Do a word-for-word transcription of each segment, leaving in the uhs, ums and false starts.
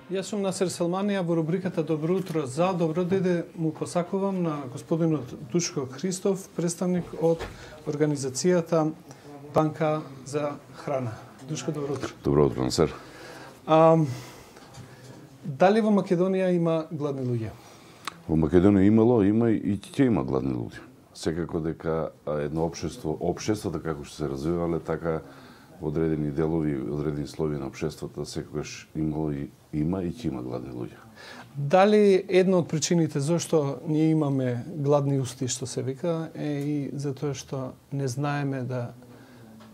Јас сум Насер Селманија во рубриката Добро утро за добро деде му посакувам на господинот Душко Христов, представник од организацијата Банка за храна. Душко, добро утро. Добро утро, Насер. А, дали во Македонија има гладни луѓе? Во Македонија имало, има и ќе има гладни луѓе. Секако дека едно општество, општеството како што се развивале, така одредени делови, одредени слоеви на општеството секогаш имало и има и ќе има гладни луѓе. Дали една од причините зашто ние имаме гладни усти, што се вика, е и затоа што не знаеме да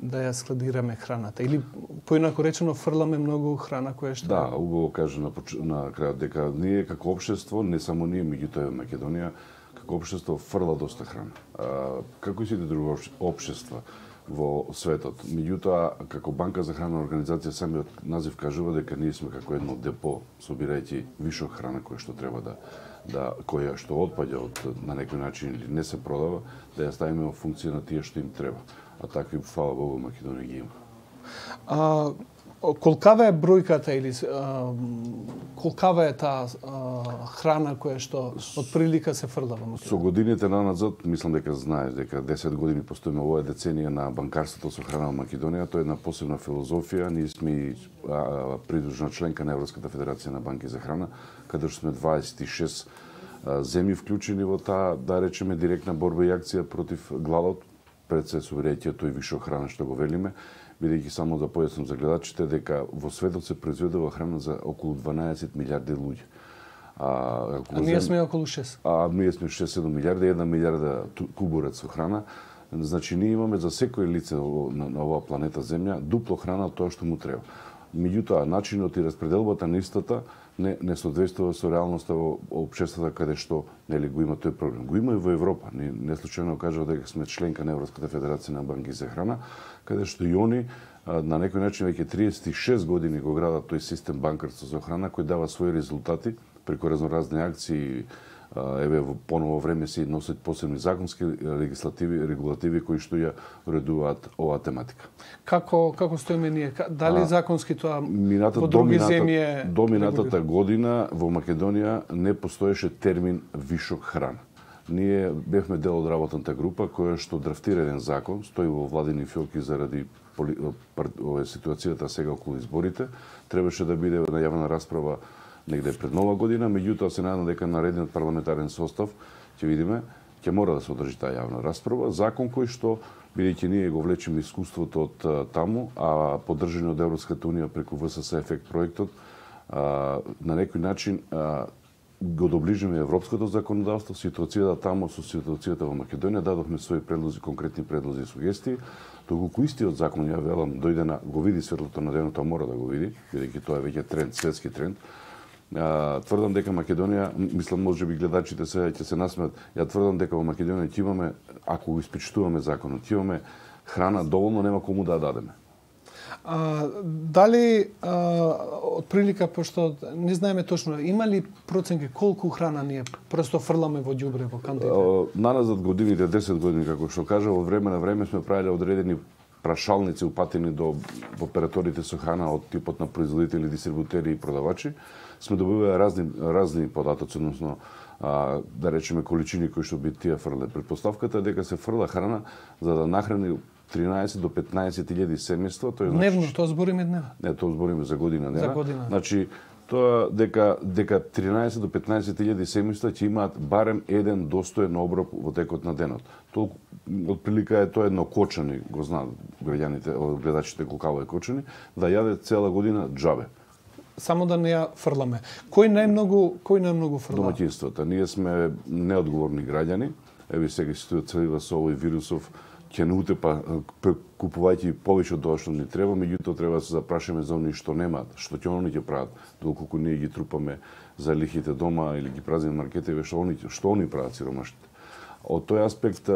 да ја складираме храната, или поинако речено фрламе многу храна која што... Да, убаво кажа на, на крајот дека ние како општество, не само ние, меѓутоа во Македонија, како општество фрла доста храна. А, како и сите други општества во светот. Меѓутоа, како Банка за храна организација, самиот назив кажува дека ние сме како едно депо, собирајќи вишок храна која што треба да да која што отпаѓа од на некој начин или не се продава, да ја ставиме во функција на тие што им треба. А такви, фала Богу, Македонија ги има. А, колкава е бројката или а, колкава е таа храна која што од прилика се фрла во Македонија? Со годините наназад, мислам дека знаеш дека десет години постоиме оваа деценија на банкарството со храна во Македонија, тоа е една посебна филозофија. Ние сме а, придружна членка на Европската федерација на банки за храна, каде што сме дваесет и шест земји вклучени во таа, да речеме, директна борба и акција против гладот, пред се собирајќи тој вишок храна што го велиме, бидејќи само да појаснам за гледачите дека во светот се произведува храна за околу дванаесет милиарди луѓе. А, а ние сме околу шест. А ние сме шест-седум милиарди, една милиарда кубурец со храна. Значи ние имаме за секој лице на, на оваа планета Земја дупло храна од тоа што му треба. Меѓутоа, начинот и распределбата на истата не, не соодветствува со реалноста во општеството каде што нели го има тој проблем. Го има и во Европа. Не, не случајно кажа дека сме членка на Европската федерација на банки за храна, каде што и они на некој начин веќе триесет и шест години го градат тој систем банкарство за храна кој дава своји резултати преку разноразни акции. Еве во поново време се носат посебни законски легислативи, регулативи кои што ја уредуваат оваа тематика. Како како стоиме ние? Дали а, законски тоа мината, во други домината, земји е до минатата година во Македонија не постоеше термин вишок храна. Ние бевме дел од работната група која што драфтира еден закон, стои во владини фиоки заради поли, ова ситуацијата сега околу изборите, требаше да биде на јавна расправа негде пред нова година, меѓутоа се надам дека наредниот парламентарен состав ќе видиме, ќе мора да се одржи таа јавна расправа, закон кој што бидејќи ние го влечеме искуството од таму, а поддржани од Европската унија преку В С С ефект проектот, а, на некој начин а, го доближиме европското законодавство, ситуацијата таму со ситуацијата во Македонија, дадовме своји предлози, конкретни предлози и сугестии. Доколку истиот закон, ја велам, дојде на го види светлото на денот, тоа мора да го види, бидејќи тоа е веќе тренд, светски тренд. Uh, тврдам дека Македонија, мислам може би гледачите се ќе се насмеат, ја тврдам дека во Македонија ќе имаме, ако го испичтуваме законот, ќе имаме храна доволно, нема кому да ја дадеме. А, дали а, од прилика, пошто не знаеме точно, има ли проценки колку храна ние просто фрламе во ѓубре, во кантите? Uh, наназад годините, десет години, како што кажа, во време на време сме правиле одредени прашалници упатени до операторите со храна од типот на производители, дистрибутери и продавачи. Сме добивале разни разни податоци, односно а, да речеме количини кои што би тие фрле. Предпоставката е дека се фрла храна за да нахрани тринаесет до петнаесет илјади семејства, тоа е дневно, значи, тоа збориме дневно. Не, тоа збориме за година, не. За година. Значи тоа дека дека тринаесет до петнаесет илјади семејства ќе имаат барем еден достоен оброк во текот на денот. Толку отприлика е тоа едно кочани, го знаат граѓаните, гледачите колку е кочани, да јаде цела година џабе. Само да не ја фрламе. Кој најмногу, кој најмногу фрла? Домаќинствата. Ние сме неодговорни граѓани. Еве сега ситуацијата со овој вирусов ќе не утепа купувајќи повеќе од тоа што ни треба, меѓутоа треба да се запрашаме за оние што немаат, што ќе они ќе прават, доколку ние ги трупаме за лихите дома или ги празниме маркетиве, што они што они прават сиромашните. Од тој аспект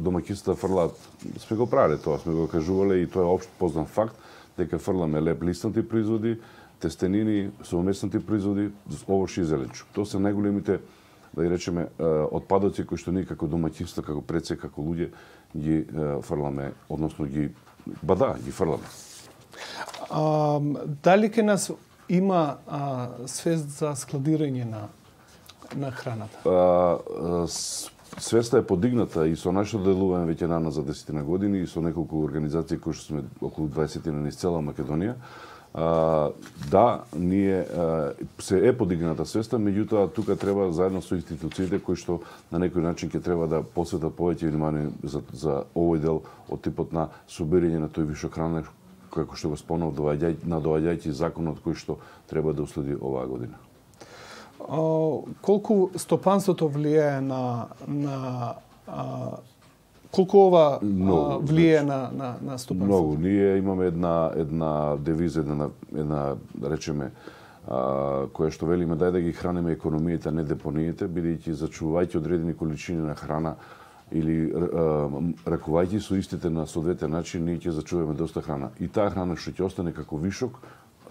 домаќинствата фрлаат, сме го правеле тоа, сме го кажувале и тоа е општ познат факт дека фрламе леп лиснати производи, тестенини, совместни производи, овошје и зеленчук. Тоа се најголемите, да ги речеме, отпадоци кои што ние како домаќинство, како предсе, како луѓе ги фрламе, односно ги бада, ги фрламе. А, дали ке нас има а, свест за складирање на на храната? А, свеста е подигната и со нашето делување веќе нана за десет години и со неколку организации кои што сме околу дваесет низ цела Македонија. А, да, ние а, се е подигната свеста, меѓутоа тука треба заедно со институциите кои што на некој начин ќе треба да посветат повеќе внимание за, за овој дел од типот на собирање на тој вишок храна, како што го спомнав, надоаѓајќи законот кој што треба да уследи оваа година. А, колку стопанството влијае на на а, колку ова Много, влијае на на на стопанството? Многу. Ние имаме една една девиза, една една да речеме а, која што велиме дај да ги храниме економијата, не депониите, бидејќи зачувајќи одредени количини на храна или а, ракувајќи со истите на соодветен начин, ние ќе зачуваме доста храна. И таа храна што ќе остане како вишок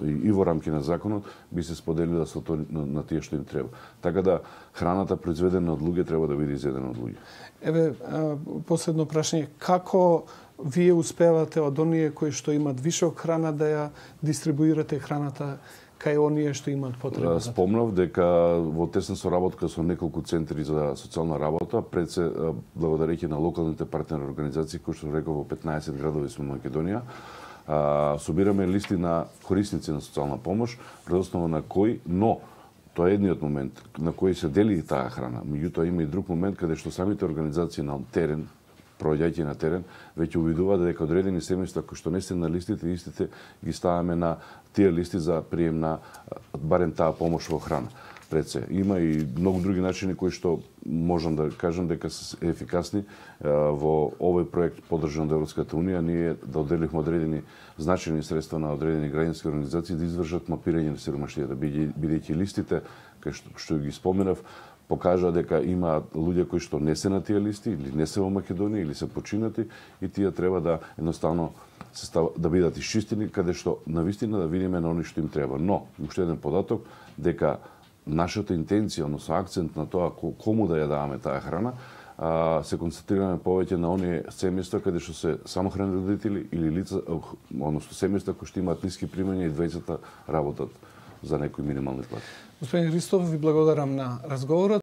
и во рамки на законот би се споделила со тоа на, на тие што им треба. Така да храната произведена од луѓе треба да биде изедена од луѓе. Еве, а, последно прашање, како вие успевате од оние кои што имат вишок храна да ја дистрибуирате храната кај оние што имаат потреба? Спомнав дека во тесна соработка со неколку центри за социјална работа, пред се благодарејќи на локалните партнери организации кои што реков во петнаесет градови во Македонија, а, собираме листи на корисници на социјална помош, пред основа на кои, но тоа е едниот момент на кој се дели таа храна. Меѓутоа има и друг момент каде што самите организации на терен, проаѓајќи на терен, веќе увидуваат дека одредени семејства кои што не се на листите, истите ги ставаме на тие листи за прием на барем таа помош во храна. Пред се. Има и многу други начини кои што можам да кажам дека се ефикасни во овој проект поддржан од Европската унија. Ние да одделивме одредени значајни средства на одредени граѓански организации да извршат мапирање на сиромаштијата, бидејќи листите кај што, што ги споменав покажа дека има луѓе кои што не се на тие листи или не се во Македонија или се починати и тие треба да едноставно се става, да бидат исчистени каде што навистина да видиме на они што им треба. Но уште еден податок дека нашата интенција, односно акцент на тоа кому да ја даваме таа храна, а, се концентрираме повеќе на оние семејства каде што се самохрани родители или лица, односно семејства кои што имаат ниски примања и двајцата работат за некои минимални плати. Господин Христов, ви благодарам на разговорот.